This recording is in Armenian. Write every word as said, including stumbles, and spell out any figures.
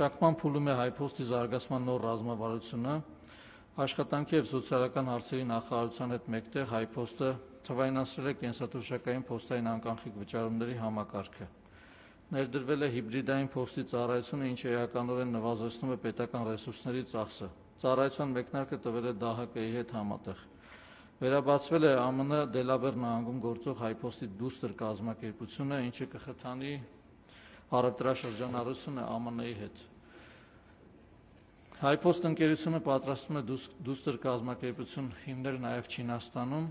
Մշակման փուլում է Հայփոստի զարգացման նոր ռազմավարությունը, աշխատանքի և սոցիալական հարցերի նախարարության հետ մեկտեղ Հայփոստը թվայնացրել է կենսաթոշակային փոստային անկախնիկ վճարումների համակարգը։ Ներդրվել է հիբրիդային փոստի ծառայությունը, ինչը էականորեն նվազեցնում է պետական ռեսուրսների ծախսը։ Ծառայության մեկնարկը տվել է դե հա կի-ի հետ համատեղ։ Վերաբացվել է Ամն Դելավեր նահանգում գործող Հայփոստի դուստր կազմակերպությունը, ինչը կխթանի առևտրաշրջանառությունը Ամն Ի հետ։ Հայփոստ ընկերությունը պատրաստվում է դուստր կազմակերպություն հիմնել նաև Չինաստանում։